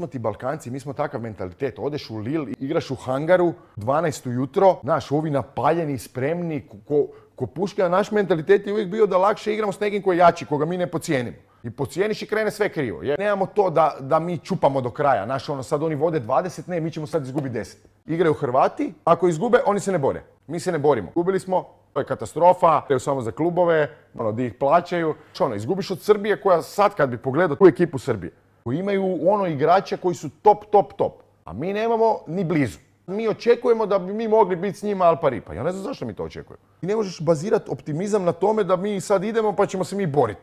smo ti Balkanci, mi smo takav mentalitet. Odeš u Lille, igraš u hangaru, 12 ujutro, znaš, ovi napaljeni, spremni, ko puške, a naš mentalitet je uvijek bio da lakše igramo s nekim koji je jači, koga mi ne podcijenimo. I podcijeniš i krene sve krivo. Jer nemamo to da mi čupamo do kraja. Znaš, sad oni vode 20, ne, mi ćemo sad izgubiti 10. Igraju Hrvati, ako izgube, oni se ne bore. Mi se ne borimo. Gubili smo, to je katastrofa, to je samo za klubove, di ih plaćaju. Izgubiš od Srbije koja sad kad bi pogledao tu ekipu Srbije, koji imaju igrače koji su top. A mi nemamo ni blizu. Mi očekujemo da bi mi mogli biti s njima al pari. Pa ja ne znam zašto mi to očekujemo. Ti ne možeš bazirati optimizam na tome da mi sad idemo pa ćemo se mi boriti.